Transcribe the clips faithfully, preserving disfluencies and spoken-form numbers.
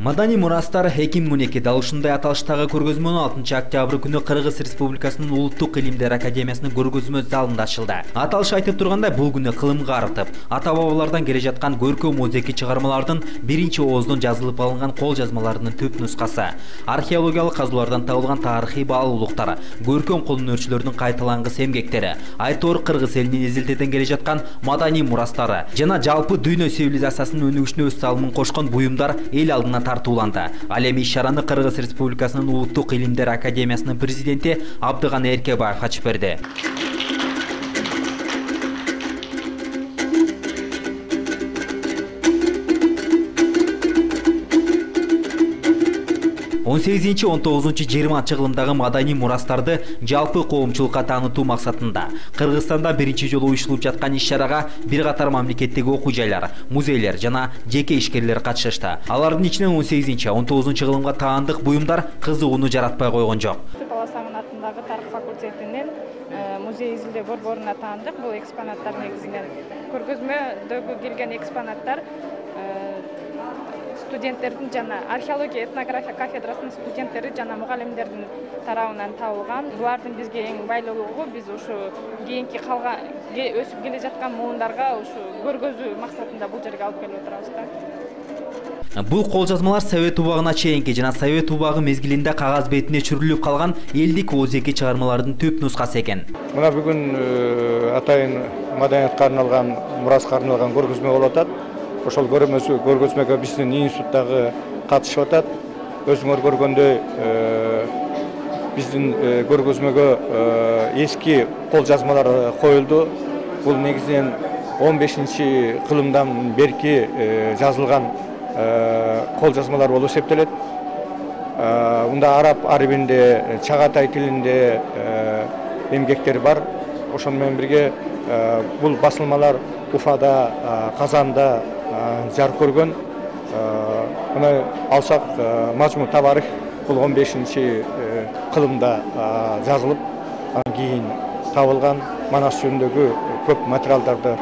Маданий мурастар эки миң он эки дал ушундай аталыштагы көргөзмөнү алтынчы октябрь күнү Кыргыз Республикасынын Улуттук илимдер академиясынын көргөзмө залында ачылды. Аталыш айтып тургандай, бул күнү кылымга арытып, ата-бабалардан келе жаткан көркөм музейки чыгармалардын биринчи ооздон жазылып алынган кол жазмаларынын төп нускасы, археологиялык казуулардан табылган тарыхый баалуулуктар, көркөм кол өнөрчүлөрдүн кайталангыс эмгектери, айтор кыргыз элинин эзелтеден келе жаткан маданий мурастары жана жалпы дүйнө цивилизациясынын өнүгүшүнө өз салымын кошкон буюмдар эл алдына тартууланды. Ал эми иш-чараны Кыргыз Республикасынын Улуттук илимдер академиясынын президенти Абдыган Эркебаев ачып берди. он сегизинчи он тогузунчу жыйырманчы кылымдагы маданий мурастарды жалпы коомчулукка таанытуу максатында Кыргызстанда биринчи жолу уюштурулуп жаткан иш-чарага бир катар мамлекеттеги окуу жайлар, музейлер жана жеке ишкерлер катышышты. Алардын ичинен он сегизинчи он тогузунчу кылымга таандык буюмдар кызыгууну жаратпай койгон жок. Баласагын атындагы тарых факультетинин музей изилдөө борборуна таандык. Бул экспонаттар негизинен көргөзмөдөгү келген экспонаттар студенттердин жана археология этнография кафедрасынын студенттери жана мугалимдердин тарабынан табылган. Булардын бизге эң байлуулугу биз ушу кийинки калган өсүп келе жаткан муундарга ушу көргөзүү максатында бул жерге алып келип отурабыз да. Бул кол жазмалар Совет убагына чейинки жана Совет убагы мезгилинде кагаз бетине чүрүлүп калган элдик оозеки чыгармалардын түп нускасы экен. Мына бүгүн атайын маданиятка арналган, мураска арналган көргөзмө болуп атат. Ошол көргөзмөгө биздин институттагы катышып атат. Өзүңөр көргөндөй биздин көргөзмөгө эски кол жазмалар коюлду. Бул негизинен он бешинчи кылымдан берки жазылган кол жазмалар болуп эсептелет. Мында араб арабинде, чагатай тилинде эмгектер бар. Ошону менен бирге бул басылмалар Уфада, Казанда жарык көргөн. Мына алсак Мажму Табарих бул он бешинчи кылымда жазылып, андан кийин табылган Манас жөнүндөгү көп материалдарды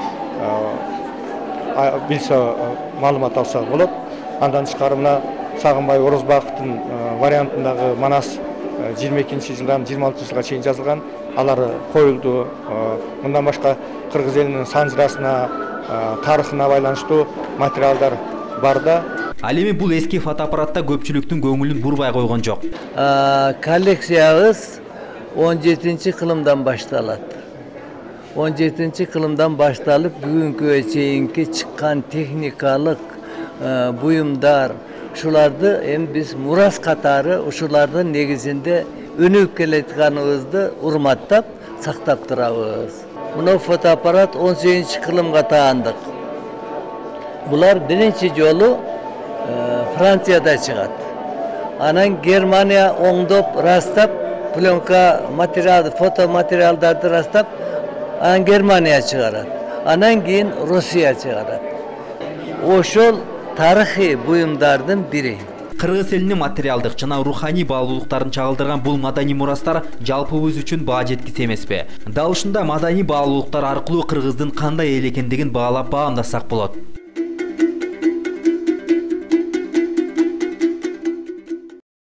билсе, маалымат алса болот. Андан тышкары мына Сагынбай Орозбаковдун вариантындагы Манас жыйырма экинчи жылдан жыйырма алтынчы жылга чейин жазылган. Алар коюлду. Мындан башка кыргыз элинин санжырасына, тарыхына байланыштуу материалдар бар да. Ал эми бул эски фотоаппаратта көпчүлүктүн көңүлүн бурбай койгон жок. Коллекциябыз он жетинчи кылымдан башталат. он жетинчи кылымдан башталып бүгүнкүгө чейинки чыккан техникалык буюмдар, ушуларды эми биз мурас катары ушулардын негизинде өнүгүп келатканыбызды урматтап, сактап турабыз. Мына фотоаппарат он сегизинчи кылымга таандык. Булар биринчи жолу Францияда чыгат. Анан Германия оңдоп, растап, пленка материал, фото материалдарды растап, анан Германия чыгарат. Анан кийин Россия чыгарат. Ошол тарыхый буюмдардын бири. Кыргыз элинин материалдык жана руханий баалуулуктарын чагылдырган бул маданий мурастар жалпыбыз үчүн баа жеткис эмеспи? Дал ушундай маданий баалуулуктар аркылуу кыргыздын кандай эл экендигин баалап баамдасак болот.